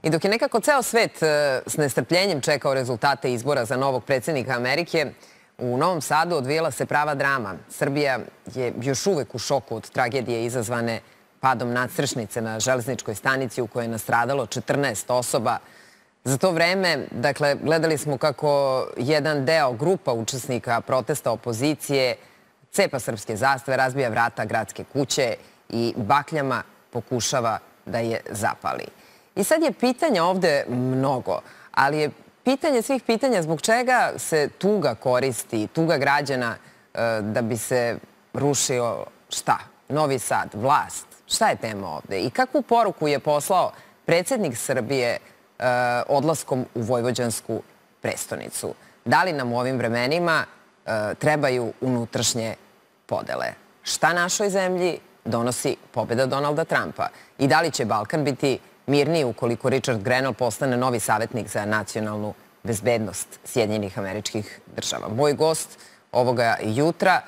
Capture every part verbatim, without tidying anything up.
I dok je nekako ceo svet s nestrpljenjem čekao rezultate izbora za novog predsjednika Amerike, u Novom Sadu odvijela se prava drama. Srbija je još uvek u šoku od tragedije izazvane padom nadstrešnice na železničkoj stanici u kojoj je nastradalo četrnaest osoba. Za to vreme, dakle, gledali smo kako jedan deo grupa učesnika protesta opozicije cepa srpske zastave, razbija vrata gradske kuće i bakljama pokušava da je zapali. I sad je pitanja ovde mnogo, ali je pitanje svih pitanja zbog čega se tuga koristi, tuga građana da bi se rušio šta? Novi Sad, vlast. Šta je tema ovde? I kakvu poruku je poslao predsjednik Srbije odlaskom u vojvođansku prestonicu? Da li nam u ovim vremenima trebaju unutrašnje podele? Šta našoj zemlji donosi pobjeda Donalda Trumpa? I da li će Balkan biti mirniji ukoliko Richard Grenell postane novi savjetnik za nacionalnu bezbednost Sjedinjenih Američkih Država? Moj gost ovoga jutra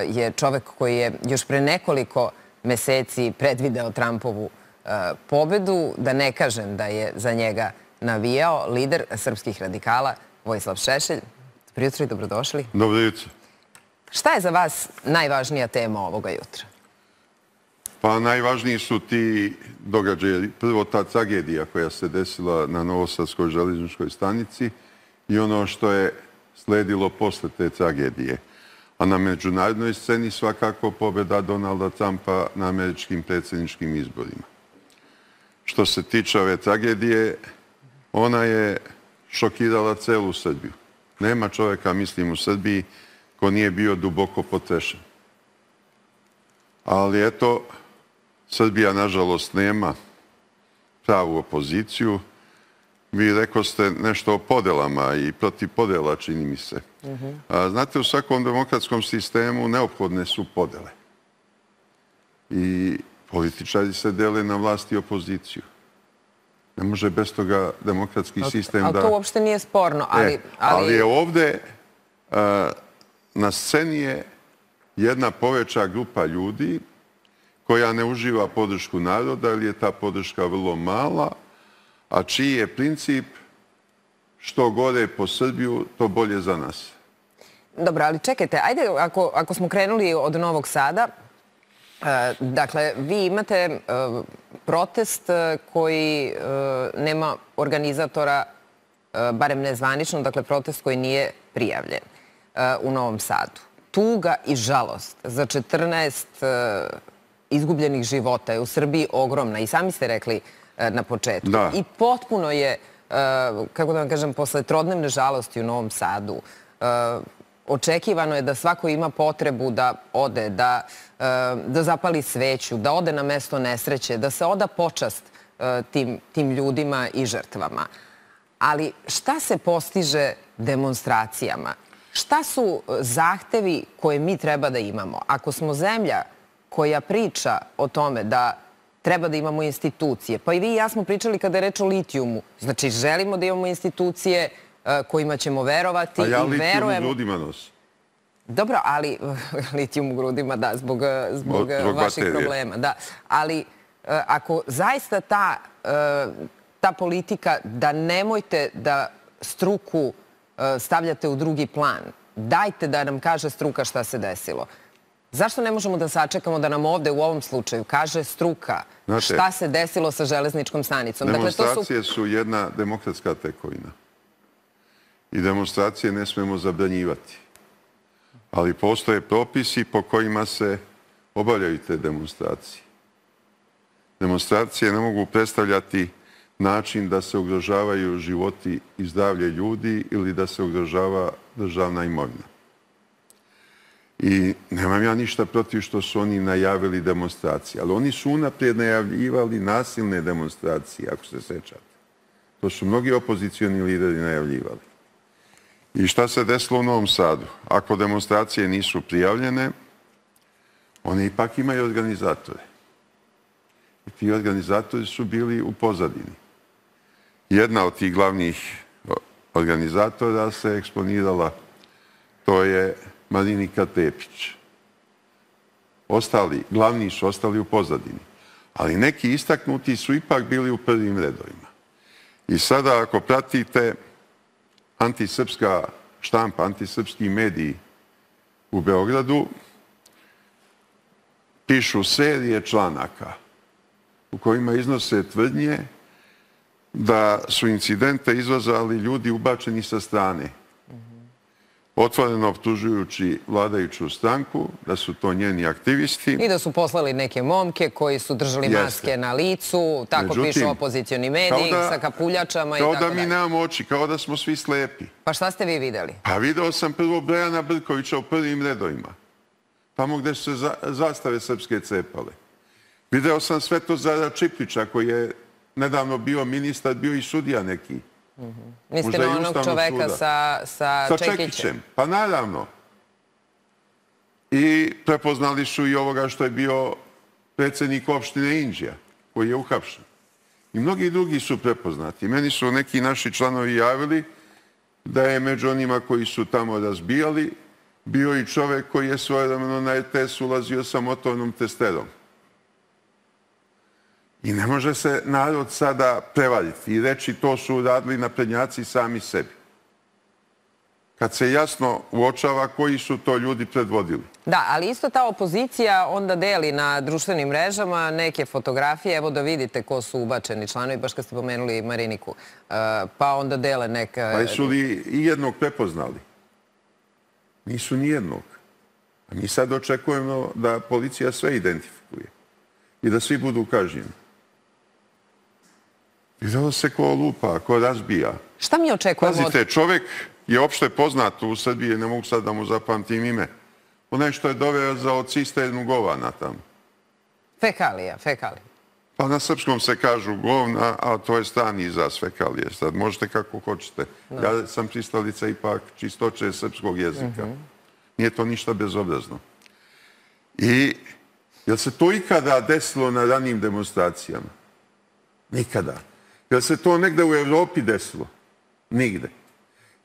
je čovek koji je još pre nekoliko meseci predvideo Trumpovu pobedu, da ne kažem da je za njega navijao, lider srpskih radikala Vojislav Šešelj. Dobro jutro i dobrodošli. Dobro jutro. Šta je za vas najvažnija tema ovoga jutra? Pa najvažniji su ti događaji. Prvo ta tragedija koja se desila na Novosadskoj železničkoj stanici i ono što je sledilo posle te tragedije. A na međunarodnoj sceni svakako pobjeda Donalda Trumpa na američkim predsjedničkim izborima. Što se tiče ove tragedije, ona je šokirala celu Srbiju. Nema čovjeka, mislim, u Srbiji ko nije bio duboko potrešen. Ali eto, Srbija, nažalost, nema pravu opoziciju. Vi rekoste nešto o podelama i protiv podela, čini mi se. Znate, u svakom demokratskom sistemu neophodne su podele. I političari se dele na vlast i opoziciju. Ne može bez toga demokratski sistem da... Ali to uopšte nije sporno. Ali je ovde na sceni je jedna poveća grupa ljudi koja ne uživa podršku naroda, ali je ta podrška vrlo mala, a čiji je princip što gore po Srbiju, to bolje za nas. Dobro, ali čekajte, ajde, ako smo krenuli od Novog Sada, dakle, vi imate protest koji nema organizatora, barem nezvanično, dakle, protest koji nije prijavljen u Novom Sadu. Tuga i žalost za četrnaest izgubljenih života je u Srbiji ogromna. I sami ste rekli na početku. I potpuno je, kako da vam kažem, posle trodnevne žalosti u Novom Sadu, očekivano je da svako ima potrebu da ode, da zapali sveću, da ode na mesto nesreće, da se oda počast tim ljudima i žrtvama. Ali šta se postiže demonstracijama? Šta su zahtevi koje mi treba da imamo? Ako smo zemlja koja priča o tome da treba da imamo institucije, pa i vi i ja smo pričali kada je reč o litijumu. Znači, želimo da imamo institucije kojima ćemo verovati i verujemo... A ja litijum u grudima nosim. Dobro, ali litijum u grudima, da, zbog vaših problema. Da, ali ako zaista ta politika da nemojte da struku stavljate u drugi plan, dajte da nam kaže struka šta se desilo. Zašto ne možemo da sačekamo da nam ovde u ovom slučaju kaže struka šta se desilo sa železničkom stanicom? Demonstracije su jedna demokratska tekovina. I demonstracije ne smemo zabranjivati. Ali postoje propisi po kojima se obavljaju te demonstracije. Demonstracije ne mogu predstavljati način da se ugrožavaju životi i zdravlje ljudi ili da se ugrožava državna imovina. I nemam ja ništa protiv što su oni najavili demonstracije, ali oni su unaprijed najavljivali nasilne demonstracije, ako se sećate. To su mnogi opozicioni lideri najavljivali. I šta se desilo u Novom Sadu? Ako demonstracije nisu prijavljene, one ipak imaju organizatore. I ti organizatori su bili u pozadini. Jedna od tih glavnih organizatora se eksponirala, to je Marinika Tepić. Ostali, glavni su ostali u pozadini. Ali neki istaknuti su ipak bili u prvim redovima. I sada ako pratite antisrpska štampa, antisrpski mediji u Beogradu, pišu serije članaka u kojima iznose tvrdnje da su incidente izazvali ljudi ubačeni sa strane, otvoreno optužujući vladajuću stranku, da su to njeni aktivisti. I da su poslali neke momke koji su držali maske na licu, tako pišu opozicioni mediji, sa kapuljačama i tako dalje. Kao da mi nemamo oči, kao da smo svi slepi. Pa šta ste vi videli? Pa video sam prvo Brejana Brkovića u prvim redovima, tamo gde su se zastave srpske cepale. Video sam Svetozara Čiplića koji je nedavno bio ministar, bio i sudija neki. Mislite na onog čoveka sa Čekićem? Pa naravno. I prepoznali su i ovoga što je bio predsjednik opštine Inđija, koji je uhapšen. I mnogi drugi su prepoznati. Meni su neki naši članovi javili da je među onima koji su tamo razbijali bio i čovek koji je svojevremeno na R T S ulazio sa motornom testerom. I ne može se narod sada prevariti i reći to su uradili naprednjaci sami sebi. Kad se jasno uočava koji su to ljudi predvodili. Da, ali isto ta opozicija onda deli na društvenim mrežama neke fotografije. Evo da vidite ko su ubačeni članovi, baš kad ste pomenuli Mariniku. Pa onda dele neka... Pa su li i jednog prepoznali? Nisu ni jednog. A mi sad očekujemo da policija sve identifikuje i da svi budu kažnjeni. Videlo se ko lupa, ko razbija. Šta mi očekujemo? Pazite, čovek je opšte poznat u Srbiji, ne mogu sad da mu zapamtim ime. Onaj što je dovezao cisternu govana tamo. Fekalija, fekalija. Pa na srpskom se kažu govna, a to je strani izraz fekalije. Sad možete kako hoćete. Ja sam pristalica ipak čistoće srpskog jezika. Nije to ništa bezobrazno. I je li se to ikada desilo na ranijim demonstracijama? Nikada. Je li se to negde u Evropi desilo? Nigde.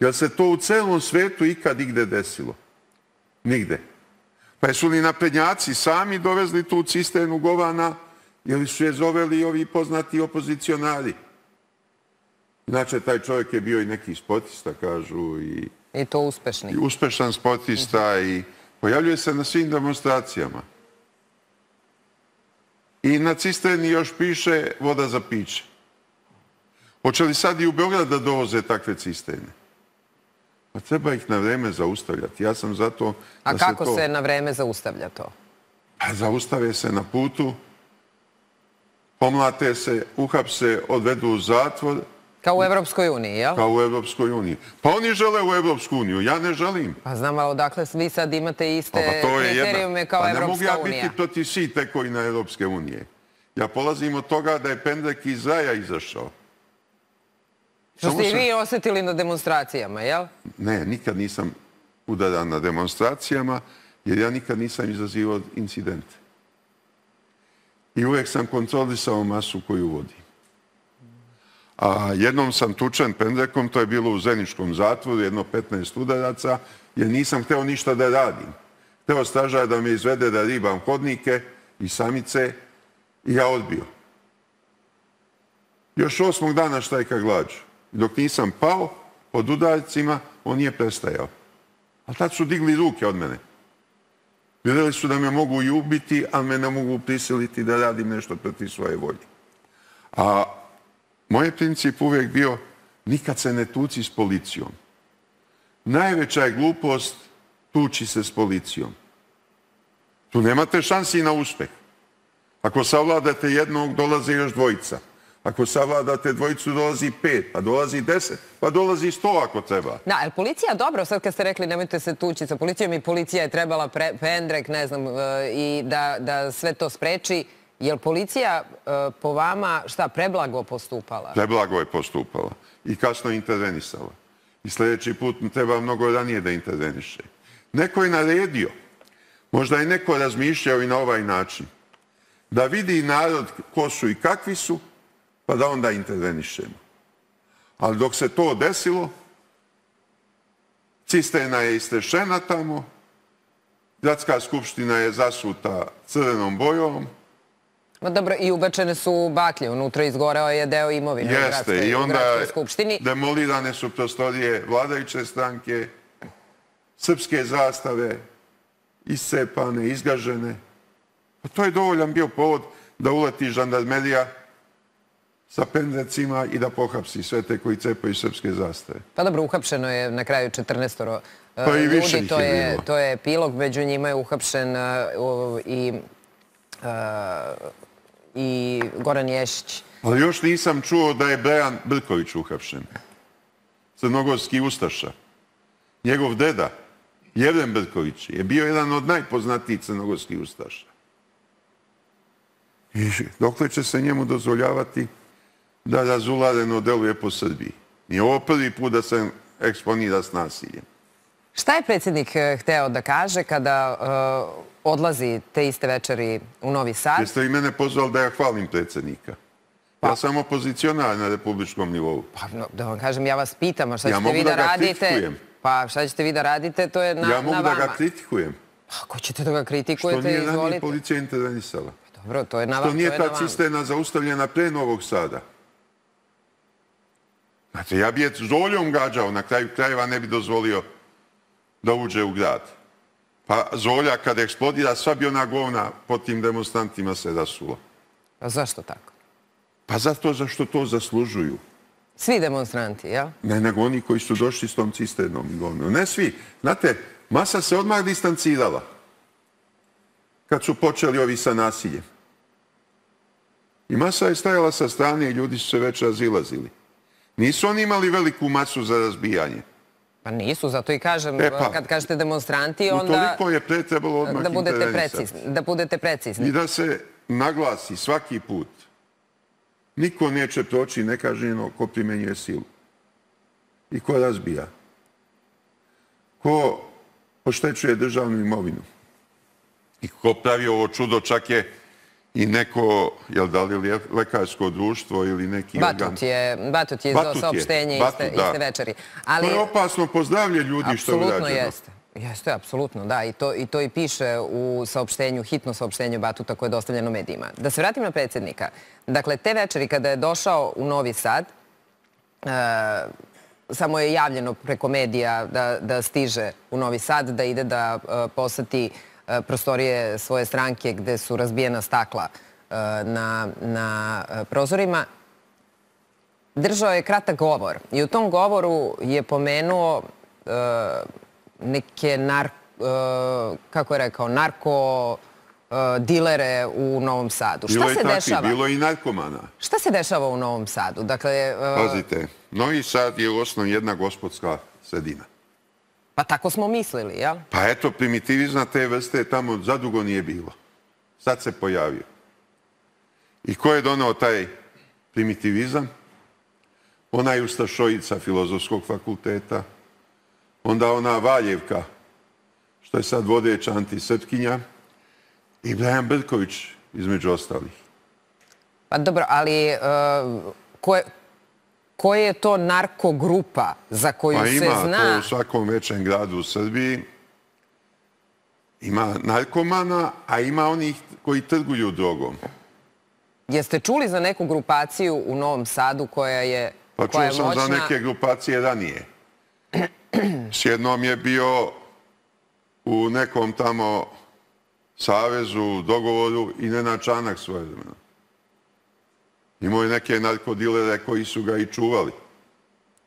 Je li se to u celom svetu ikad igde desilo? Nigde. Pa jesu li naprednjaci sami dovezli tu cisternu govana ili su je zoveli ovi poznati opozicionari? Inače, taj čovjek je bio i neki sportista, kažu. I, I to uspešni. I uspešan sportista i pojavljuje se na svim demonstracijama. I na cisterni još piše voda za piće. Hoće li sad i u Beograd da dovoze takve cisterne? Pa treba ih na vreme zaustavljati. Ja sam zato... A kako se na vreme zaustavlja to? Pa zaustave se na putu, pomlate se, uhapse, odvedu u zatvor. Kao u Evropskoj uniji, jel? Kao u Evropskoj uniji. Pa oni žele u Evropsku uniju, ja ne želim. Pa znam, ali odakle vi sad imate iste kriterijume kao Evropska unija? Pa ne mogu ja biti protiv svih tekovina Evropske unije. Ja polazim od toga da je pendrek iz raja izašao. Što ste i vi osjetili na demonstracijama, jel? Ne, nikad nisam udaran na demonstracijama, jer ja nikad nisam izazivao incidente. I uvek sam kontrolisao masu koju vodim. A jednom sam tučen pendrekom, to je bilo u Zeničkom zatvoru, jedno petnaest udaraca, jer nisam hteo ništa da radim. Hteo stražar da me izvede da ribam hodnike i samice i ja odbio. Još osmog dana štrajka glađu. Dok nisam pao pod udarcima, on nije prestajao. A tad su digli ruke od mene. Vidjeli su da me mogu i ubiti, ali me ne mogu prisiliti da radim nešto protiv svoje volje. A moj princip uvijek bio nikad se ne tuci s policijom. Najveća je glupost tući se s policijom. Tu nemate šansi na uspeh. Ako savladate jednog, dolaze još dvojica. Ako savladate dvojicu, dolazi pet, pa dolazi deset, pa dolazi sto ako treba. Da, ali policija, dobro, sad kad ste rekli nemojte se tući sa policijom i policija je trebala pendrek, ne znam, i da sve to spreči. Je li policija po vama, šta, preblago postupala? Preblago je postupala i kasno intervenisala. I sljedeći put treba mnogo ranije da interveniše. Neko je naredio, možda je neko razmišljao i na ovaj način, da vidi narod ko su i kakvi su, pa da onda intervenišemo. Ali dok se to desilo, cisterna je istrešena tamo, gradska skupština je zasuta crvenom bojom. Dobro, i ubačene su baklje, unutra izgoreo je deo imovine u Jeste, i onda gradskoj skupštini. demolirane su prostorije vladajuće stranke, srpske zastave, iscepane, izgažene. To je dovoljan bio povod da uleti žandarmerija sa pendrecima i da pohapsi sve te koji cepaju srpske zastave. Pa dobro, uhapšeno je na kraju četrnaestoro Pa i više ljudi, ih to je je, bilo. to je epilog, među njima je uhapšen uh, i, uh, i Goran Ješić. Ali još nisam čuo da je Brejan Brković uhapšen. Crnogorski ustaša. Njegov deda, Jevren Brković, je bio jedan od najpoznatijih crnogorskih ustaša. I dokle će se njemu dozvoljavati da razulareno deluje po Srbiji? Nije ovo prvi put da se eksponira s nasiljem. Šta je predsjednik hteo da kaže kada uh, odlazi te iste večeri u Novi Sad? Jeste li mene pozvali da ja hvalim predsjednika? Ja sam opozicionar na republičkom nivou. Pa, no, da vam kažem, ja vas pitam, a šta Ja ćete mogu vi da da ga radite? kritikujem. Pa šta ćete vi da radite, to je na, Ja na mogu vama. da ga kritikujem. Ako ćete da ga Što kritikujete, nije ranije izvolite. policija intervenisala. Dobro, to je na vama. Što To nije je na ta vama. cisterna zaustavljena pre Novog Sada. Znate, ja bi je zoljom gađao, na kraju krajeva ne bi dozvolio da uđe u grad. Pa zolja kad eksplodira, sva bi ona govna pod tim demonstrantima se rasula. Pa zašto tako? Pa zato zašto to zaslužuju. Svi demonstranti, jel? Ne, nego oni koji su došli s tom cisternom i govnom. Ne svi. Znate, masa se odmah distancirala kad su počeli ovi sa nasiljem. I masa je stajala sa strane i ljudi su se već razilazili. Nisu oni imali veliku masu za razbijanje. Pa nisu, zato i kažem, E pa, kad kažete demonstranti, onda utoliko je pre trebalo odmah da budete intervenisati. precizni. Da budete precizni. I da se naglasi svaki put. Niko neće proći nekažnjeno ko primenjuje silu. I ko razbija. Ko oštećuje državnu imovinu. I ko pravi ovo čudo, čak je i neko, jel da li lekarsko društvo ili neki organ. Batut je, Batut je izdao saopštenje iste, iste večeri. Ali, to je opasno po zdravlje ljudi što je urađeno. Apsolutno jeste. Jeste, apsolutno, da. I to, I to i piše u saopštenju, hitno saopštenje Batuta koje je dostavljeno medijima. Da se vratim na predsjednika. Dakle, te večeri kada je došao u Novi Sad, e, samo je javljeno preko medija da, da stiže u Novi Sad, da ide da e, poseti e, prostorije svoje stranke gde su razbijena stakla e, na, na e, prozorima. Držao je kratak govor i u tom govoru je pomenuo e, neke nar, uh, kako je rekao, narko uh, dilere u Novom Sadu. Bilo Šta se takvi, dešava? bilo i narkomana. Šta se dešava u Novom Sadu? Dakle, uh, Pazite, Novi Sad je u osnovi jedna gospodska sredina. Pa tako smo mislili, jel? Pa eto, primitivizma te vrste tamo zadugo nije bilo. Sad se pojavio. I ko je doneo taj primitivizam? Ona je ustašojica Filozofskog fakulteta, onda ona Valjevka, što je sad vodeća antisrpkinja, i Brejan Brković, između ostalih. Pa dobro, ali uh, ko, je, ko je to narkogrupa za koju pa se ima zna... to u svakom većem gradu u Srbiji. Ima narkomana, a ima onih koji trguju drogom. Jeste čuli za neku grupaciju u Novom Sadu koja je Pa koja čuo je sam moćna? za neke grupacije ranije. S jednom je bio u nekom tamo savezu, dogovoru i Nenad Čanak svoje vremena. Imao je neke narkodilere koji su ga i čuvali.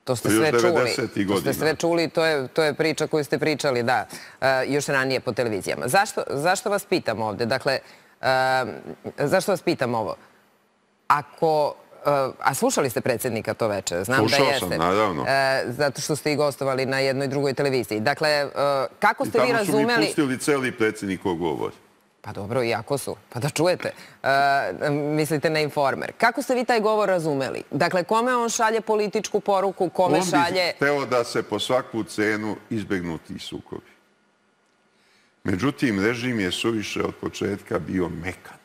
To ste To je sve još čuli. devedesetih To ste godina. sve čuli, to je, to je priča koju ste pričali, da, e, još ranije po televizijama. Zašto, zašto vas pitam ovde? Dakle, e, zašto vas pitam ovo? Ako... A slušali ste predsjednika to večer? Znam Slušao da jeste. sam, naravno. E, zato što ste i gostovali na jednoj drugoj televiziji. Dakle, e, kako ste vi I tamo su mi razumeli... pustili celi predsjednikov govor. Pa dobro, iako su. Pa da čujete. E, mislite na Informer. Kako ste vi taj govor razumeli? Dakle, kome on šalje političku poruku, kome On bi šalje... hteo da se po svaku cenu izbegnu ti sukobi. Međutim, režim je suviše od početka bio mekan.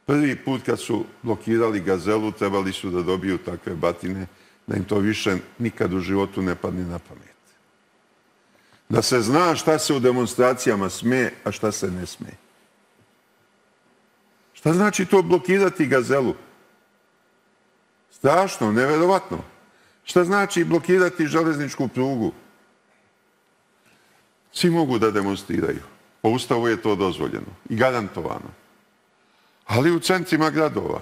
Prvi put kad su blokirali Gazelu, trebali su da dobiju takve batine, da im to više nikad u životu ne padne na pamet. Da se zna šta se u demonstracijama sme, a šta se ne sme. Šta znači to blokirati Gazelu? Strašno, neverovatno. Šta znači blokirati železničku prugu? Svi mogu da demonstriraju. Po Ustavu je to dozvoljeno i garantovano. Ali u centrima gradova.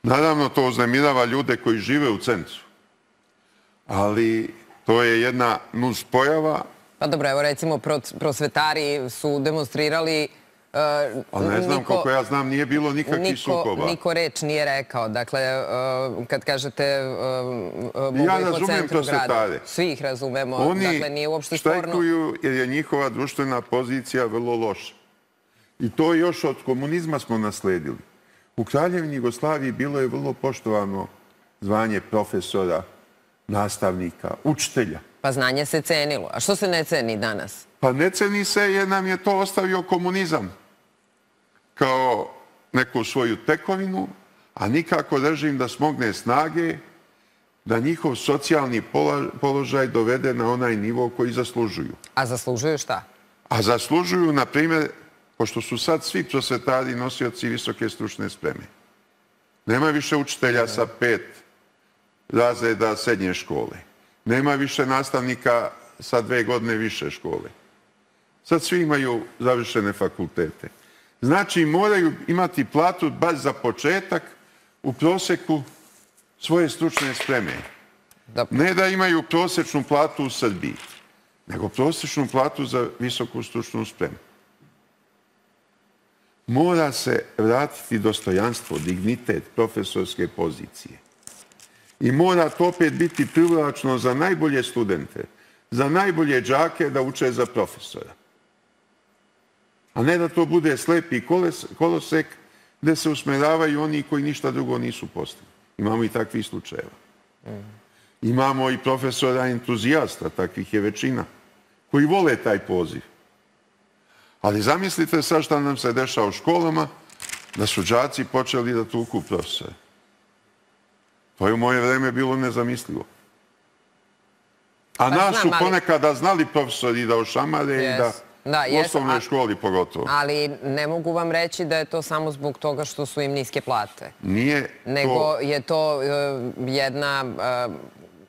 Naravno, to uznemirava ljude koji žive u centru. Ali to je jedna nuspojava. Pa dobro, evo recimo prosvetari su demonstrirali. A ne znam, koliko ja znam, nije bilo nikakvih sukoba. Niko reč nije rekao. Dakle, kad kažete ja razumem prosvetare. Svi ih razumemo. Oni štrajkuju štrajkuju jer je njihova društvena pozicija vrlo loša. I to još od komunizma smo nasledili. U Kraljevini Jugoslaviji bilo je vrlo poštovano zvanje profesora, nastavnika, učitelja. Pa znanje se cenilo. A što se ne ceni danas? Pa ne ceni se jer nam je to ostavio komunizam kao neku svoju tekovinu, a nikako režim da smogne snage da njihov socijalni položaj dovede na onaj nivo koji zaslužuju. A zaslužuju šta? A zaslužuju, na primjer, pošto su sad svi prosvetari nosioci visoke stručne spreme. Nema više učitelja sa pet razreda srednje škole. Nema više nastavnika sa dve godine više škole. Sad svi imaju završene fakultete. Znači, moraju imati platu baš za početak u proseku svoje stručne spreme. Ne da imaju prosečnu platu u Srbiji, nego prosečnu platu za visoku stručnu spremu. Mora se vratiti dostojanstvo, dignitet profesorske pozicije. I mora to opet biti privlačno za najbolje studente, za najbolje đake da uče za profesora. A ne da to bude slepi kolosek gde se usmeravaju oni koji ništa drugo nisu postigli. Imamo i takvih slučajeva. Imamo i profesora entuzijasta, takvih je većina, koji vole taj poziv. Ali zamislite sad šta nam se dešava u školama, da su đaci počeli da tuku profesore. To je u moje vreme bilo nezamislivo. A nas su ponekada znali profesori da ošamare i da u osnovnoj školi pogotovo. Ali ne mogu vam reći da je to samo zbog toga što su im niske plate. Nije to... Nego je to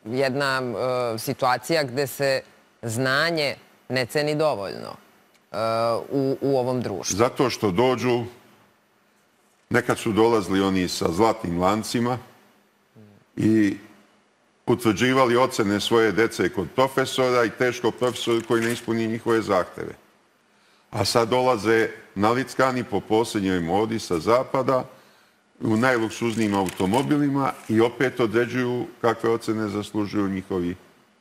jedna situacija gde se znanje ne ceni dovoljno u ovom društvu. Zato što dođu, nekad su dolazili oni sa zlatnim lancima i utvrđivali ocene svoje dece kod profesora i teško profesor koji ne ispuni njihove zahteve. A sad dolaze nalickani po posljednjoj modi sa zapada u najluksuznijim automobilima i opet određuju kakve ocene zaslužuju njihovi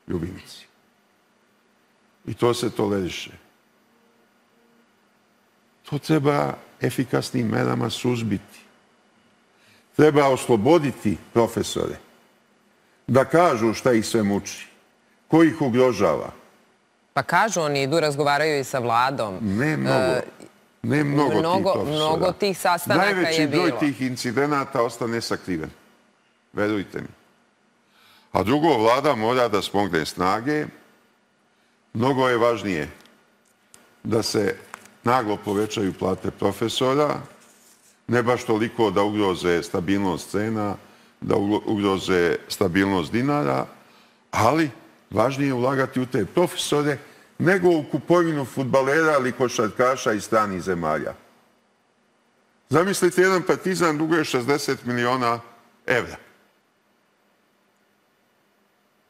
ljubimci. I to se toleriše. To treba efikasnim merama suzbiti. Treba osloboditi profesore da kažu šta ih sve muči, ko ih ugrožava. Pa kažu, oni idu, razgovaraju i sa vladom. Ne mnogo. Ne mnogo tih profesora. Mnogo tih sastanaka je bilo. Najveći broj tih incidenata ostane sakriven. Verujte mi. A drugo, vlada mora da smogne snage. Mnogo je važnije da se naglo povećaju plate profesora, ne baš toliko da ugroze stabilnost cena, da ugroze stabilnost dinara, ali važnije je ulagati u te profesore nego u kupovinu fudbalera ili košarkaša iz stranih zemalja. Zamislite, jedan Partizan duguje šezdeset miliona evra.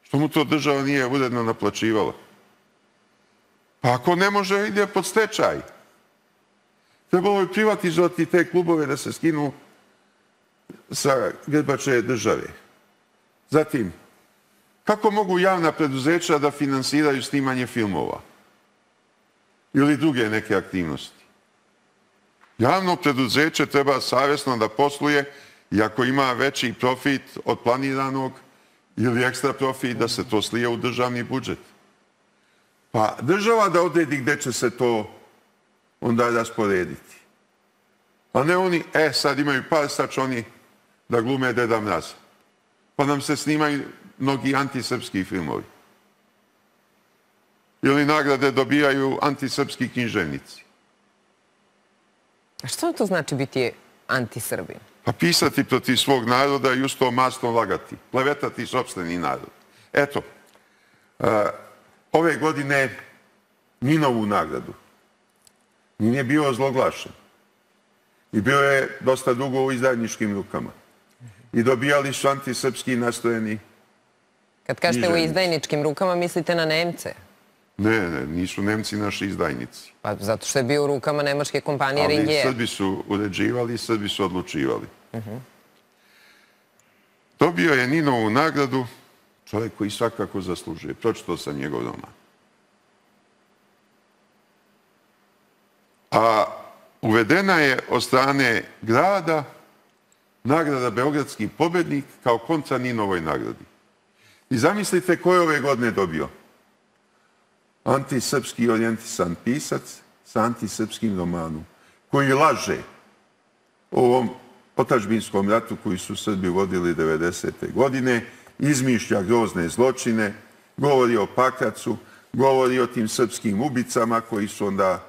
Što mu to država nije uredno naplaćivala? Pa ako ne može, ide pod stečaj. Trebalo je privatizovati te klubove da se skinu sa grbače države. Zatim, kako mogu javna preduzeća da finansiraju snimanje filmova ili druge neke aktivnosti? Javno preduzeće treba savjesno da posluje i ako ima veći profit od planiranog ili ekstra profit, da se to slije u državni budžet. Pa država da odredi gde će se to onda rasporediti. Pa ne oni, e, sad imaju par, sad će oni da glume Deda Mraza. Pa nam se snimaju mnogi antisrpski filmovi. Ili nagrade dobijaju antisrpski književnici. A što to znači biti anti-Srbin? Pa pisati protiv svog naroda i uz to masno lagati. Klevetati sopstveni narod. Eto, ove godine Ninovu nagradu. Nin je bio ozloglašen. I bio je dosta dugo u izdajničkim rukama. I dobijali su antisrpski nastrojeni. Kad kažete u izdajničkim rukama, mislite na Nemce? Ne, ne, nisu Nemci naši izdajnici. Pa zato što je bio u rukama nemačke kompanije Ringier. Ali Srbi su uređivali, Srbi su odlučivali. Dobio je Ninovu nagradu čovjek koji svakako zaslužuje. Pročitao sam njegov roman. A uvedena je od strane grada nagrada Beogradski pobednik kao kontra Ninovoj nagradi. I zamislite ko je ove godine dobio? Antisrpski orijentisan pisac sa antisrpskim romanom, koji laže o ovom otadžbinskom ratu koji su Srbi vodili devedesete godine, izmišlja grozne zločine, govori o Pakracu, govori o tim srpskim ubicama koji su onda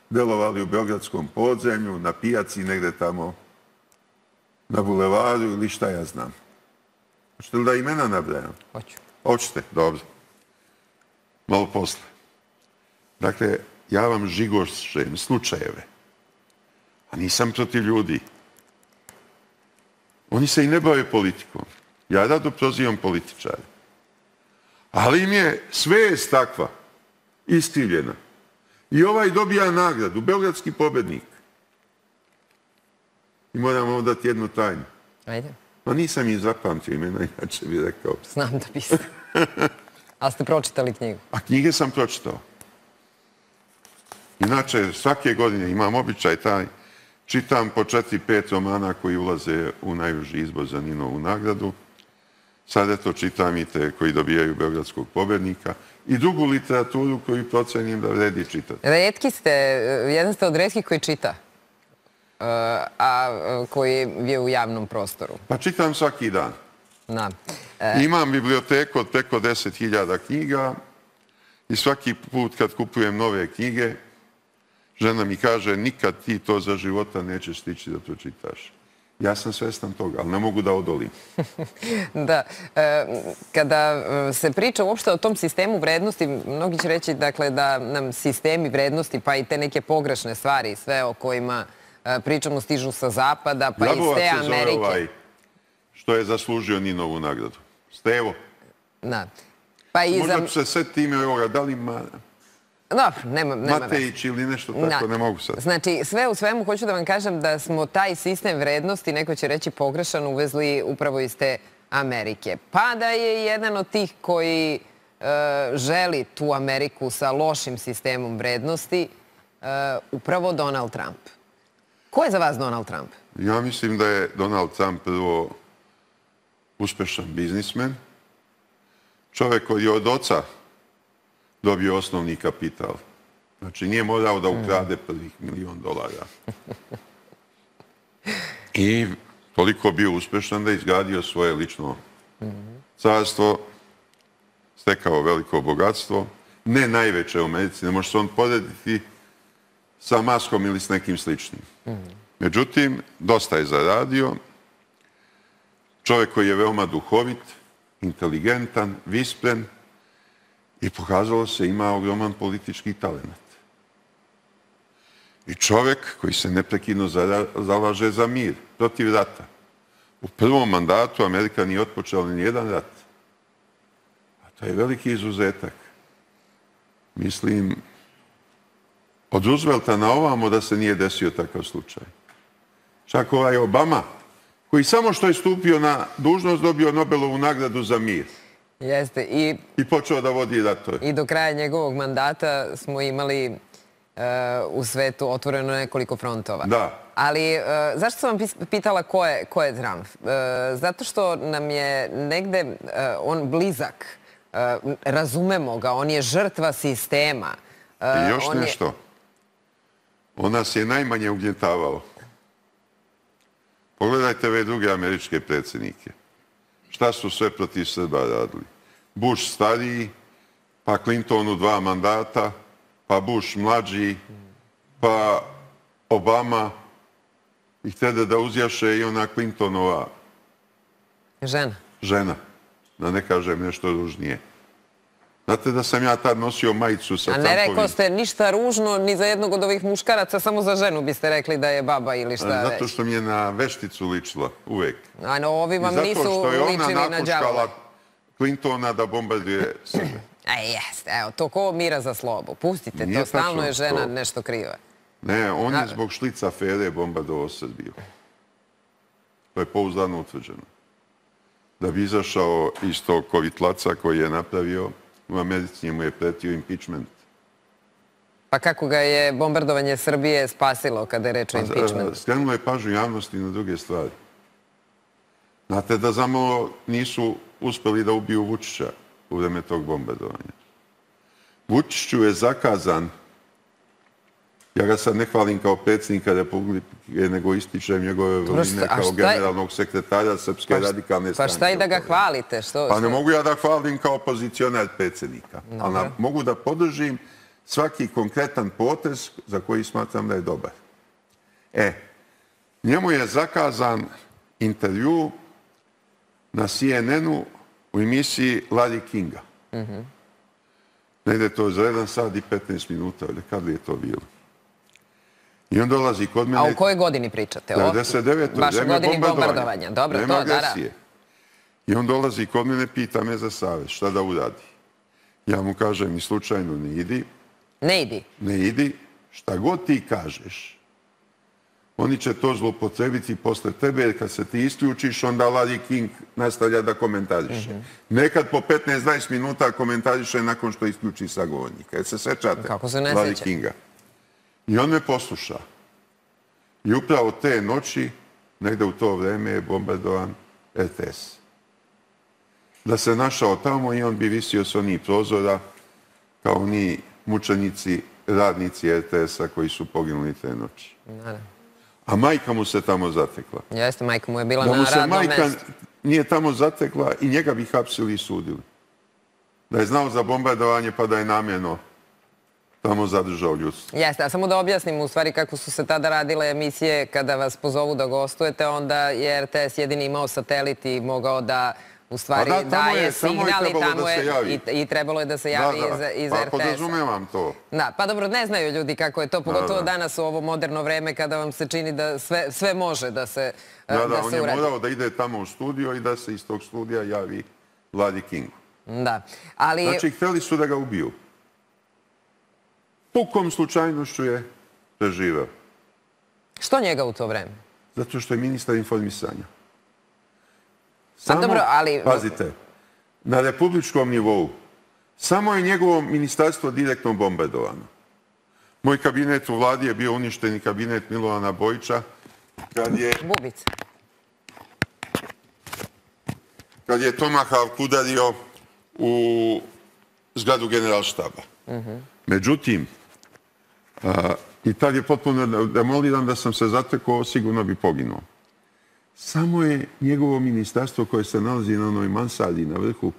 delovali u beogradskom podzemlju, na pijaci negde tamo na bulevaru ili šta ja znam. Hoćete li da imena nabrajam? Hoću. Hoćete, dobro. Malo posle. Dakle, ja vam žigošem slučajeve, a nisam protiv ljudi. Oni se i ne bave politikom. Ja rado prozivam političare. Ali im je svest takva, iskrivljena. I ovaj dobija nagradu, Beogradski pobednik. I moram vam dati jednu tajnu. Ajde. Ma nisam ih zapamtio imena, inače bih rekao. Znam da biste. Ali ste pročitali knjigu? A knjige sam pročitao. Inače, svake godine imam običaj taj, čitam po četiri, pet romana koji ulaze u najuži izbor za Ninovu nagradu. Sad eto čitam i te koji dobijaju Beogradskog pobednika i drugu literaturu koju procenim da vredi čitati. Retki ste, jedan ste od retkih koji čita, a koji je u javnom prostoru. Pa čitam svaki dan. Da. Imam biblioteku od preko deset hiljada knjiga i svaki put kad kupujem nove knjige, žena mi kaže, nikad ti to za života nećeš stići da to čitaš. Ja sam svestan toga, ali ne mogu da odolim. Da. Kada se priča uopšte o tom sistemu vrednosti, mnogi će reći da nam sistemi vrednosti, pa i te neke pogrešne stvari, sve o kojima pričamo, stižu sa zapada, pa iz te Amerike. Jabovac se zove ovaj što je zaslužio Ninovu nagradu. Stevo. Da. Možda ću se setiti ime ovoga, da li Matejić ili nešto tako, ne mogu sad. Znači, sve u svemu hoću da vam kažem da smo taj sistem vrednosti, neko će reći pogrešan, uvezli upravo iz te Amerike. Pa da je jedan od tih koji želi tu Ameriku sa lošim sistemom vrednosti upravo Donald Trump. Ko je za vas Donald Trump? Ja mislim da je Donald Trump prvo uspešan biznismen, čovek koji je od oca dobio osnovni kapital. Znači, nije morao da ukrade prvih milion dolara. I toliko bio uspešan da je izgradio svoje lično carstvo, stekao veliko bogatstvo, ne najveće u Americi, ne može se on porediti sa Maskom ili s nekim sličnim. Međutim, dosta je zaradio. Čovjek koji je veoma duhovit, inteligentan, vispren i pokazalo se ima ogroman politički talent. I čovjek koji se neprekidno zalaže za mir, protiv rata. U prvom mandatu Amerika nije otpočela ni jedan rat. A to je veliki izuzetak. Mislim, od Roosevelta na ovamo da se nije desio takav slučaj. Čak ovaj Obama, koji samo što je stupio na dužnost, dobio Nobelovu nagradu za mir. Jeste. I počeo da vodi ratove. I do kraja njegovog mandata smo imali u svetu otvoreno nekoliko frontova. Da. Ali zašto sam vam pitala ko je Trump? Zato što nam je negde on blizak. Razumemo ga, on je žrtva sistema. I još nešto. On nas je najmanje ugnjetavao. Pogledajte ove druge američke predsjednike. Šta su sve protiv Srba radili? Bush stariji, pa Clintonu dva mandata, pa Bush mlađi, pa Obama i htjede da uzjaše i ona Clintonova žena. žena. Da ne kažem nešto ružnije. Znate da sam ja tad nosio majicu sa tankovim... A ne rekao ste ništa ružno ni za jednog od ovih muškaraca, samo za ženu biste rekli da je baba ili šta već. Zato što mi je na vešticu ličila, uvek. A no, ovi vam nisu ličili na đavola. I zato što je ona napuškala Clintona da bombarduje Srbe. E, jeste, evo, to ko mira za slobu. Pustite to, stalno je žena nešto kriva. Ne, on je zbog šlica afere bombardovao Srbiju. To je pouzdano utvrđeno. Da bi izašao iz tog kovitlaca koji je napravio, u Americi mu je pretio impeachment. Pa kako ga je bombardovanje Srbije spasilo kada je reč o impeachmentu? Skrenulo je pažnju javnosti na druge stvari. Znate da zamalo nisu uspeli da ubiju Vučića u vreme tog bombardovanja. Vučiću je zakazan, ja ga sad ne hvalim kao predsjednika Republike, nego ističem njegove vrline kao generalnog sekretara Srpske radikalne stranke. Pa šta i da ga hvalite? Pa ne mogu ja da hvalim kao opozicionar predsjednika, ali mogu da podržim svaki konkretan potez za koji smatram da je dobar. E, njemu je zakazan intervju na C N N-u u emisiji Larry Kinga. Negde to za jedan sat i petnaest minuta, ali kad li je to bilo? I on dolazi kod mene... A u kojoj godini pričate? devedeset devete. Baš u godini bombardovanja. Dobro, to, da, da. I on dolazi kod mene, pita me za savjet, šta da uradi. Ja mu kažem, ni slučajno ne idi. Ne idi? Ne idi. Šta god ti kažeš, oni će to zlopotrebiti posle tebe, jer kad se ti isključiš, onda Larry King nastavlja da komentariše. Nekad po petnaest do dvadeset minuta komentariše nakon što isključi sagovornika. Jer se sećate Larry Kinga. I on me posluša. I upravo te noći, negde u to vreme, je bombardovan R T S. Da se našao tamo i on bi visio s onih prozora kao oni mučenici, radnici R T S-a koji su poginuli te noći. A majka mu se tamo zatekla. Jeste, majka mu je bila na radnom mestu. Da mu se majka nije tamo zatekla i njega bi hapsili i sudili. Da je znao za bombardovanje pa da je namjerno tamo zadržao ljudstvo. Jeste, a samo da objasnim u stvari kako su se tada radile emisije kada vas pozovu da gostujete, onda je R T S jedini imao satelit i mogao da u stvari daje signal i tamo je i trebalo je da se javi iz R T S-a. Pa podrazumevam to. Da, pa dobro, ne znaju ljudi kako je to, pogotovo danas u ovo moderno vreme kada vam se čini da sve može da se uradi. Da, da, on je morao da ide tamo u studio i da se iz tog studija javi Larry Kingu. Da, ali... Znači, hteli su da ga ubiju. Pukom slučajnošću je preživeo. Što njega u to vreme? Zato što je ministar informisanja. Samo, ali... Pazite, na republičkom nivou samo je njegovo ministarstvo direktno bombardovano. Moj kabinet u vladi je bio uništeni kabinet Milovana Bojića kad je... Bubica. Kad je Tomahawk udario u zgradu generalštaba. Međutim, i tad je potpuno demoliran, da sam se zatekao, sigurno bi poginuo. Samo je njegovo ministarstvo koje se nalazi na onoj mansardi na vrhu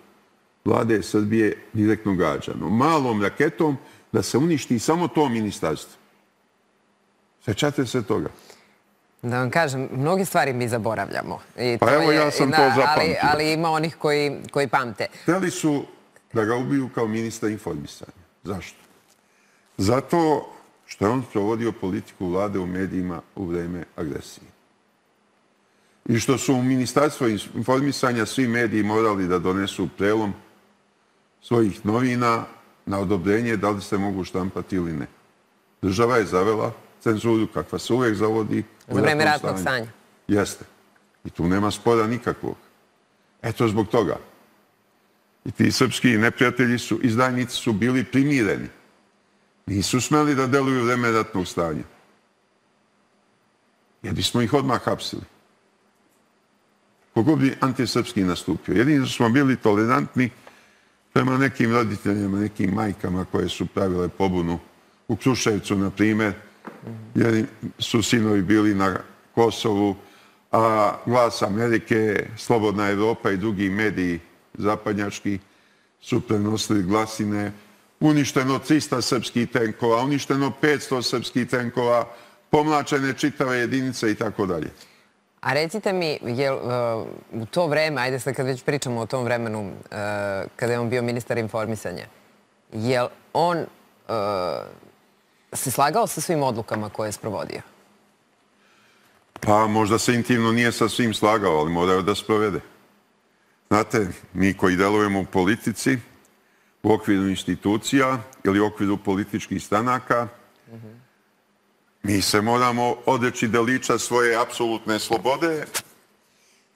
vlade Srbije direktno gađano. Malom raketom da se uništi samo to ministarstvo. Sećate se toga? Da vam kažem, mnoge stvari mi zaboravljamo. Pa evo ja sam to zapamtio. Ali ima onih koji pamte. Hteli su da ga ubiju kao ministra informisanja. Zašto? Zato što je on provodio politiku vlade u medijima u vreme agresije. I što su u ministarstvu informisanja svi mediji morali da donesu prelom svojih novina na odobrenje da li se mogu štampati ili ne. Država je zavela cenzuru kakva se uvijek zavodi u vreme ratnog stanja. Jeste. I tu nema spora nikakvog. Eto zbog toga. I ti srpski neprijatelji su, izdajnici su bili primireni. Nisu smeli da deluju u vreme ratnog stanja. Jer bismo ih odmah hapsili. Kogo bi antisrpski nastupio. Jedino smo bili tolerantni prema nekim roditeljima, nekim majkama koje su pravile pobunu u Kruševcu, na primjer, jer su sinovi bili na Kosovu, a Glas Amerike, Slobodna Evropa i drugi mediji zapadnjački su prenosili glasine. Uništeno trista srpskih tenkova, uništeno petsto srpskih tenkova, pomlačene čitave jedinice i tako dalje. A recite mi, je u to vreme, ajde sad kad već pričamo o tom vremenu, kada je on bio ministar informisanja, je on se slagao sa svim odlukama koje je sprovodio? Pa možda se intimno nije sa svim slagao, ali morao da sprovede. Znate, mi koji delujemo u politici, u okviru institucija ili u okviru političkih stranaka, mi se moramo odreći delića svoje apsolutne slobode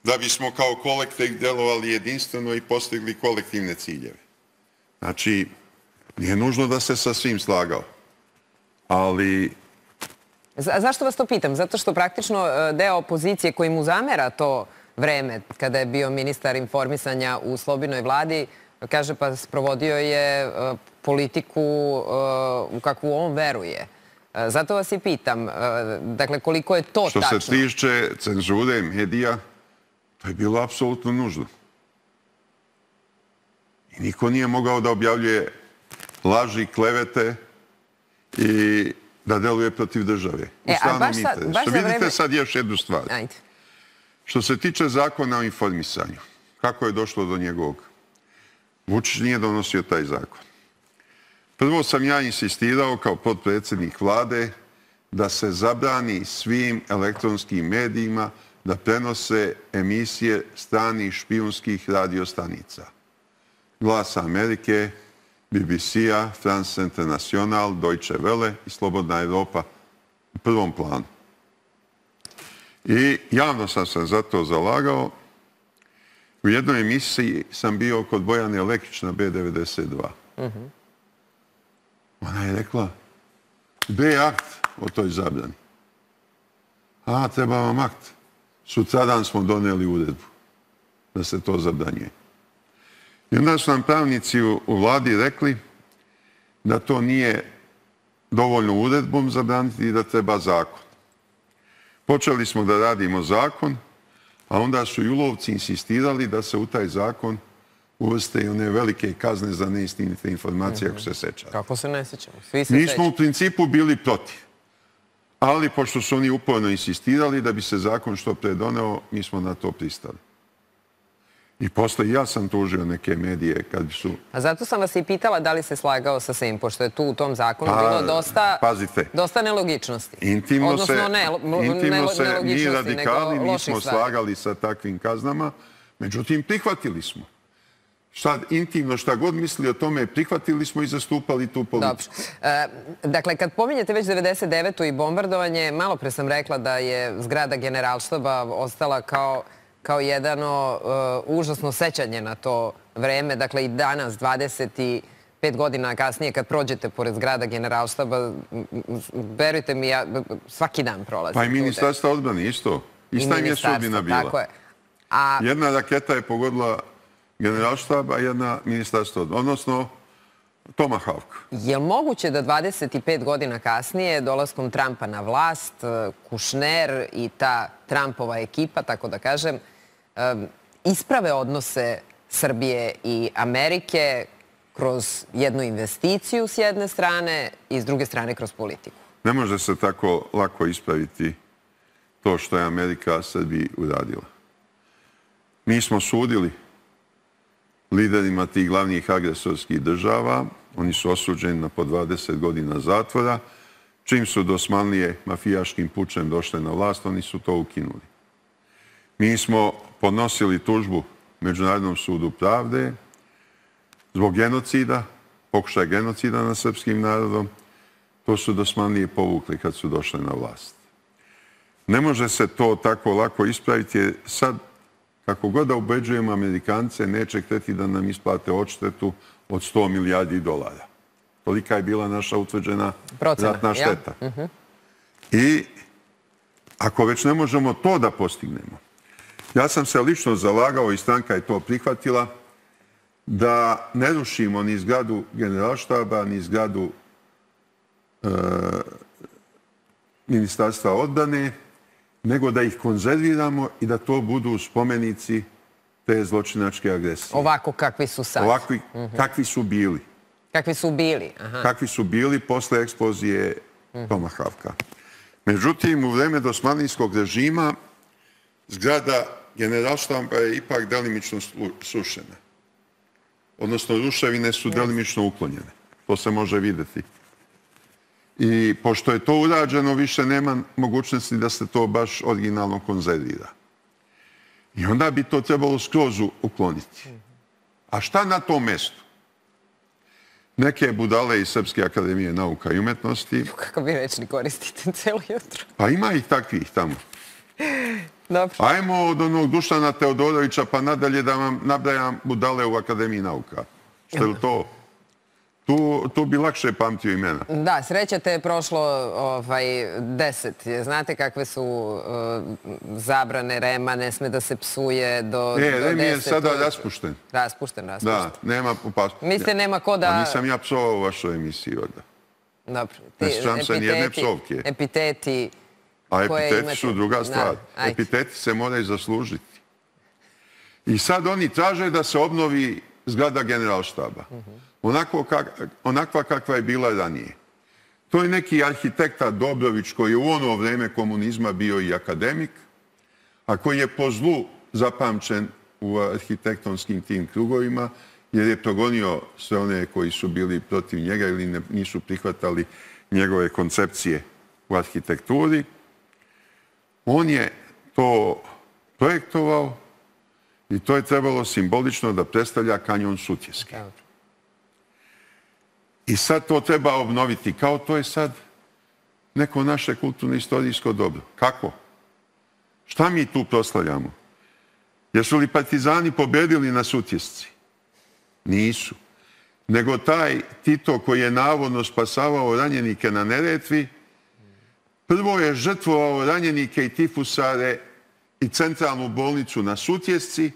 da bismo kao kolektiv delovali jedinstveno i postigli kolektivne ciljeve. Znači, nije nužno da se sa svim slagao, ali... Zašto vas to pitam? Zato što praktično deo opozicije koji mu zamera to vreme, kada je bio ministar informisanja u Slobinoj vladi, kaže pa sprovodio je politiku u kakvu on veruje. Zato vas i pitam, dakle, koliko je to tačno? Što se tiče cenzure medija, to je bilo apsolutno nužno. I niko nije mogao da objavljuje laži, klevete i da deluje protiv države. U stranom interesu. Vidite sad još jednu stvar. Što se tiče zakona o informisanju, kako je došlo do njegovog? Vučić nije donosio taj zakon. Prvo sam ja insistirao kao potpredsjednik vlade da se zabrani svim elektronskim medijima da prenose emisije stranih špijunskih radiostanica. Glasa Amerike, B B C-a, France International, Deutsche Welle i Slobodna Evropa u prvom planu. I javno sam se za to zalagao. U jednoj emisiji sam bio kod Bojane Lekić na B devedeset dva. Ona je rekla, gde je akt o toj zabrani? A, treba vam akt. Sutradan smo doneli uredbu da se to zabranjuje. I onda su nam pravnici u vladi rekli da to nije dovoljno uredbom zabraniti i da treba zakon. Počeli smo da radimo zakon, a onda su julovci insistirali da se u taj zakon uvrste i one velike kazne za neistinite informacije, ako se sećate. Kako se ne sećamo? Svi se Mi smo u principu bili protiv. Ali, pošto su oni uporno insistirali da bi se zakon što pre doneo, mi smo na to pristali. I posle ja sam tužio neke medije kad su... A zato sam vas i pitala da li se slagao sa svim, pošto je tu u tom zakonu bilo dosta... Pazite. Dosta nelogičnosti. Intimno se, intimno se mi radikali nismo slagali sa takvim kaznama, međutim prihvatili smo. Šta intimno, šta god misli o tome, prihvatili smo i zastupali tu politiku. Dakle, kad pominjete već devedeset devetu i bombardovanje, malo pre sam rekla da je zgrada Generalštaba ostala kao kao jedno užasno sećanje na to vreme. Dakle, i danas, dvadeset pet godina kasnije, kad prođete pored zgrada Generalštaba, verujte mi, ja svaki dan prolazim. Pa i Ministarstva odbrane, isto. Ista im je sudbina bila. Tako je. Jedna raketa je pogodila Generalštab, a jedna Ministarstva odbrane. Odnosno, Tomahawk. Je li moguće da dvadeset pet godina kasnije, dolaskom Trumpa na vlast, Kušner i ta Trumpova ekipa, tako da kažem, isprave odnose Srbije i Amerike kroz jednu investiciju s jedne strane i s druge strane kroz politiku? Ne može se tako lako ispraviti to što je Amerika Srbiji uradila. Mi smo sudili liderima tih glavnih agresorskih država. Oni su osuđeni na po dvadeset godina zatvora. Čim su dosmanlije mafijaškim pučem došle na vlast, oni su to ukinuli. Mi smo podnosili tužbu Međunarodnom sudu pravde zbog genocida, pokušaja genocida nad srpskim narodom. To su dosmanlije povukli kad su došle na vlast. Ne može se to tako lako ispraviti, jer sad kako god da ubeđujemo Amerikance, neće hteti da nam isplate odštetu od sto milijardi dolara. Tolika je bila naša utvrđena ratna šteta. I ako već ne možemo to da postignemo, ja sam se lično zalagao i stranka je to prihvatila, da ne rušimo ni zgradu Generalštaba, ni zgradu Ministarstva odbrane, nego da ih konzerviramo i da to budu spomenici te zločinačke agresije. Ovako kakvi su sad. Ovakvi kakvi su bili. Kakvi su bili. Kakvi su bili posle eksplozije Tomahawka. Međutim, u vreme dosmanlijskog režima zgrada Generalštaba je ipak delimično srušena. Odnosno, ruševine su delimično uklonjene. To se može vidjeti. I pošto je to urađeno, više nema mogućnosti da se to baš originalno konzervira. I onda bi to trebalo skroz ukloniti. A šta na tom mjestu? Neke budale iz Srpske akademije nauka i umetnosti. Kako vi rečni koristite cijelo jutro? Pa ima ih takvih tamo. Dobro. Ajmo od onog Dušana Teodorovića pa nadalje da vam nabrajam budale u Akademiji nauka. Što je to? Tu, tu bi lakše pamtio imena. Da, sreća te je prošlo ovaj, deset. Znate kakve su uh, zabrane Rema, ne sme da se psuje do, e, do Rem deset. je sada raspušten. Raspušten, raspušten. Da, nema opasnosti. Mislite, nema ko da... A nisam ja psovao u vašoj emisiji, onda. Dobro. Ne sjećam se nijedne psovke. Epiteti... A epiteti su druga stvar. Epiteti se moraju zaslužiti. I sad oni traže da se obnovi zgrada Generalštaba. Onakva kakva je bila ranije. To je neki arhitekta Dobrović koji je u ono vreme komunizma bio i akademik, a koji je po zlu zapamćen u arhitektonskim tim krugovima, jer je progonio sve one koji su bili protiv njega ili nisu prihvatali njegove koncepcije u arhitekturi. On je to projektovao i to je trebalo simbolično da predstavlja kanjon Sutjeske. I sad to treba obnoviti. Kao to je sad neko naše kulturno-istorijsko dobro. Kako? Šta mi tu proslavljamo? Jesu li partizani pobedili na Sutjesci? Nisu. Nego taj Tito koji je navodno spasavao ranjenike na Neretvi, prvo je žrtvovao ranjenike i tifusare i centralnu bolnicu na Sutjesci,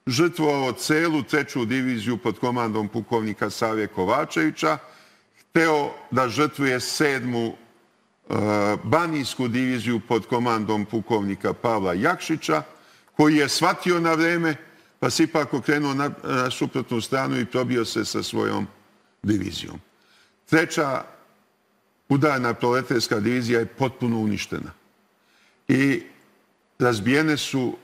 žrtvovao celu treću diviziju pod komandom pukovnika Save Kovačevića, hteo da žrtvuje sedmu uh, banijsku diviziju pod komandom pukovnika Pavla Jakšića, koji je shvatio na vreme, pa se ipak okrenuo na, na suprotnu stranu i probio se sa svojom divizijom. Treća udarna proletarska divizija je potpuno uništena. I razbijene su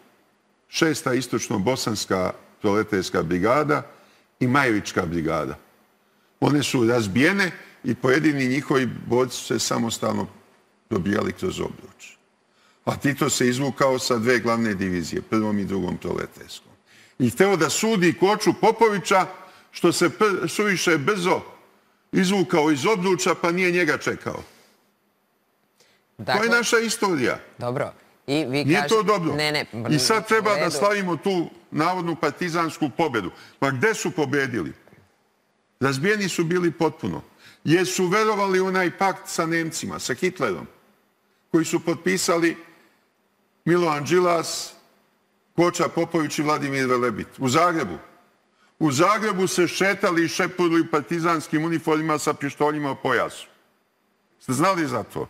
šesta istočno-bosanska proletarska brigada i Majevička brigada. One su razbijene i pojedini njihovi borci su se samostalno probijali kroz obruč. A Tito se izvukao sa dve glavne divizije, prvom i drugom proletarskom. I hteo da sudi Koču Popovića, što se suviše brzo izvukao iz obruča, pa nije njega čekao. Dakle, to je naša istorija. Dobro. I vi nije kažete... to dobro. Ne, ne, I sad treba da slavimo tu navodnu partizansku pobedu. Pa gde su pobedili? Razbijeni su bili potpuno. Jer su verovali u onaj pakt sa Nemcima, sa Hitlerom, koji su potpisali Milovan Đilas, Koča Popović i Vladimir Velebit. U Zagrebu. U Zagrebu se šetali i šepurili u partizanskim uniformima sa pištoljima u pojasu. Ste znali za to?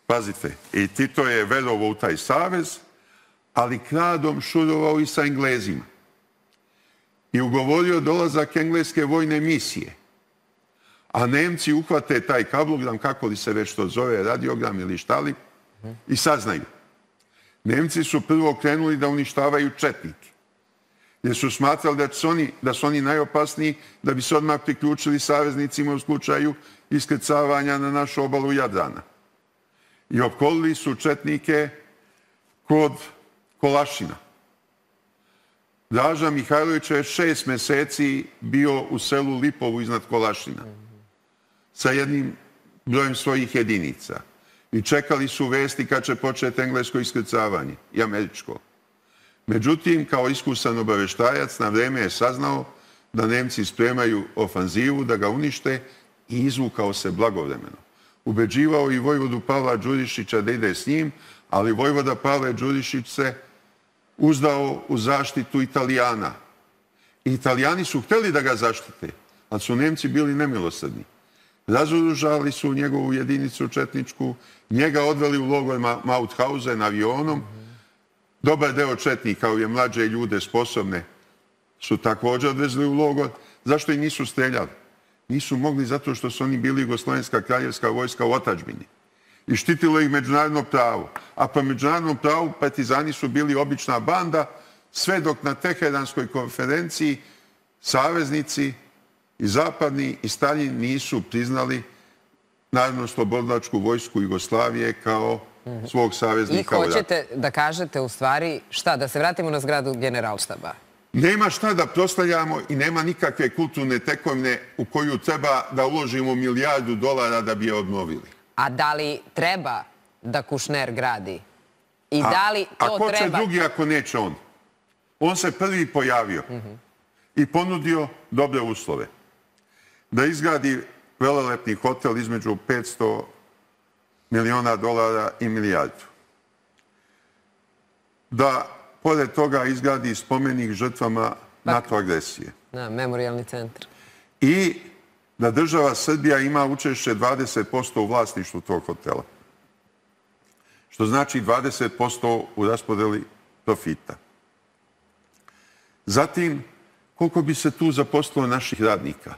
Pazite, i Tito je verovao u taj savez, ali kradom šurovao i sa Englezima. I ugovorio dolazak engleske vojne misije. A Nemci uhvate taj kablogram, kako li se već to zove, radiogram ili šta li, i saznaju. Nemci su prvo krenuli da uništavaju četnike. Jer su smatrali da su oni, da su oni najopasniji, da bi se odmah priključili saveznicima u slučaju iskrcavanja na našu obalu Jadrana. I opkolili su četnike kod Kolašina. Draža Mihajlović je šest meseci bio u selu Lipovu iznad Kolašina sa jednim brojem svojih jedinica. I čekali su vesti kad će početi englesko iskrcavanje i američko. Međutim, kao iskusan obaveštajac, na vreme je saznao da Nemci spremaju ofanzivu, da ga unište i izvukao se blagovremeno. Ubeđivao i vojvodu Pavla Đurišića da ide s njim, ali vojvoda Pavle Đurišić se uzdao u zaštitu Italijana. I Italijani su hteli da ga zaštite, ali su Nemci bili nemilosrdni. Razoružali su njegovu jedinicu četničku, njega odveli u logor Mauthausen avionom. Dobar deo četnika, ove mlađe ljude sposobne, su također odvezli u logor. Zašto ih nisu streljali? Nisu mogli zato što su oni bili Jugoslovenska kraljevska vojska u otadžbini. i štitilo ih međunarodno pravo. A po međunarodnom pravu partizani su bili obična banda, sve dok na Teheranskoj konferenciji saveznici i zapadni i Stalin nisu priznali Narodno-slobodilačku vojsku Jugoslavije kao svog saveznika u ratu. I hoćete da kažete u stvari šta? Da se vratimo na zgradu Generalštaba? Nema šta da proslavljamo i nema nikakve kulturne tekovine u koju treba da uložimo milijardu dolara da bi je obnovili. A da li treba da Kušner gradi? I da li to treba... A ko će drugi ako neće on? On se prvi pojavio i ponudio dobre uslove. Da izgradi velelepni hotel između petsto miliona dolara i milijardu. Da, pored toga, izgradi spomenik žrtvama NATO agresije. Da, memorijalni centar. I da država Srbija ima učešće dvadeset posto u vlasništvu tog hotela. Što znači dvadeset posto u raspodeli profita. Zatim, koliko bi se tu zaposlilo naših radnika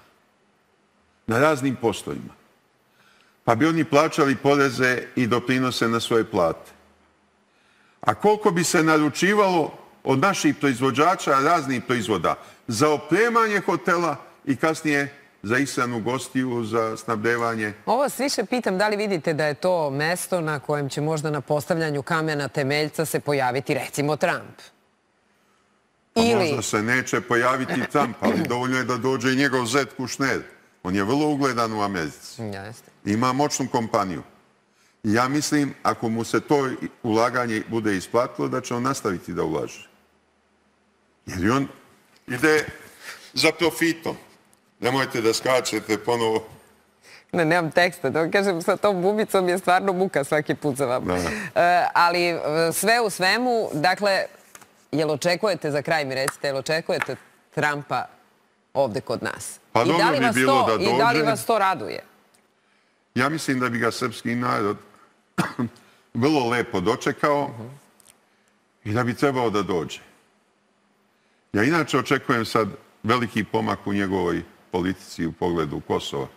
na raznim poslovima. Pa bi oni plaćali poreze i doprinose na svoje plate. A koliko bi se naručivalo od naših proizvođača raznih proizvoda za opremanje hotela i kasnije za ishranu gostiju, za snabdevanje. Ovo vas više pitam da li vidite da je to mesto na kojem će možda na postavljanju kamena temeljca se pojaviti recimo Trump. Pa možda se neće pojaviti Trump, ali dovoljno je da dođe i njegov zet Kušner. On je vrlo ugledan u Americi. Ima moćnu kompaniju. I ja mislim, ako mu se to ulaganje bude isplatilo, da će on nastaviti da ulaže. Jer on ide za profitom. Nemojte da skačete ponovo. Ne, nemam teksta. Da vam kažem, sa tom bubicom je stvarno muka svaki put za vama. Ali sve u svemu, dakle, jel očekujete, za kraj mi recite, jel očekujete Trumpa ovde kod nas? Pa dobro bi bilo da dođe. I da li vas to raduje? Ja mislim da bi ga srpski narod vrlo lepo dočekao i da bi trebao da dođe. Ja inače očekujem sad veliki pomak u njegovoj politici u pogledu Kosova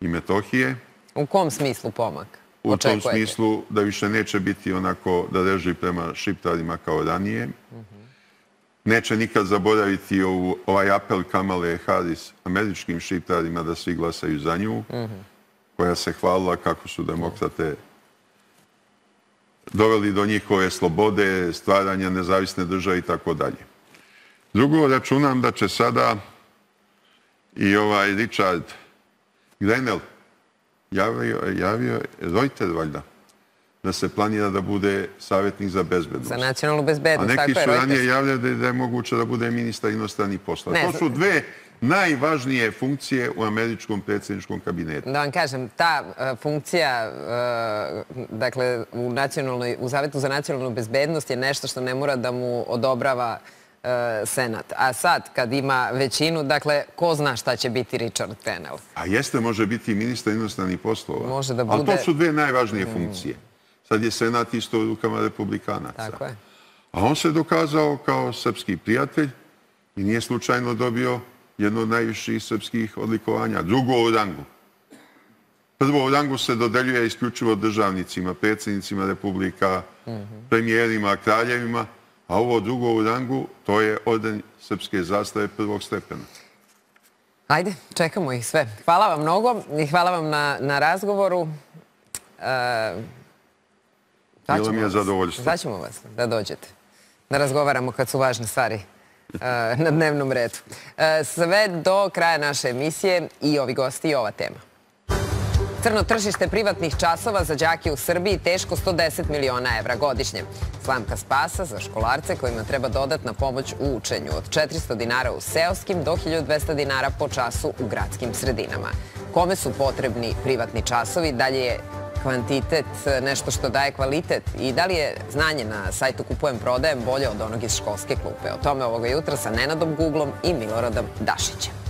i Metohije. U kom smislu pomak U tom smislu da više neće biti onako da reži prema šiptarima kao ranije. Neće nikad zaboraviti ovaj apel Kamale Harris američkim šiptarima da svi glasaju za nju, koja se hvalila kako su demokrate doveli do njihove slobode, stvaranja nezavisne države i tako dalje. Drugo, računam da će sada i ovaj Richard Grenell javio, javio Reuter, valjda, da se planira da bude savjetnik za bezbednost. Za nacionalnu bezbednost, tako je. A neki su ranije javljali da je moguće da bude ministar inostranih poslova. To su dve najvažnije funkcije u američkom predsjedničkom kabinetu. Da vam kažem, ta funkcija, dakle, u Savjetu za nacionalnu bezbednost je nešto što ne mora da mu odobrava Senat. A sad, kad ima većinu, dakle, ko zna šta će biti Richard Grenell? A jeste, može biti ministar inostranih poslova. Može da bude... Ali to su dve najvažnije funkcije. Sad je Senat isto u rukama republikanaca. Tako je. A on se dokazao kao srpski prijatelj i nije slučajno dobio jedno od najviših srpskih odlikovanja. Drugo u rangu. Prvo u rangu se dodeljuje isključivo državnicima, predsjednicima republika, premijerima, kraljevima, a ovo drugo u rangu, to je orden srpske zastave prvog stepena. Ajde, čekamo ih sve. Hvala vam mnogo i hvala vam na razgovoru. Bilo mi je zadovoljstvo. Zvaćemo vas da dođete, da razgovaramo kad su važne stvari na dnevnom redu. Sve do kraja naše emisije i ovi gosti i ova tema. Crno tržište privatnih časova za đake u Srbiji teško sto deset miliona evra godišnje. Slamka spasa za školarce kojima treba dodatna pomoć u učenju. Od četiristo dinara u seoskim do hiljadu dvesta dinara po času u gradskim sredinama. Kome su potrebni privatni časovi? Da li je kvantitet nešto što daje kvalitet? I da li je znanje na sajtu Kupujem prodajem bolje od onog iz školske klupe? O tome ovoga jutra sa Nenadom Guglom i Miloradom Dašićem.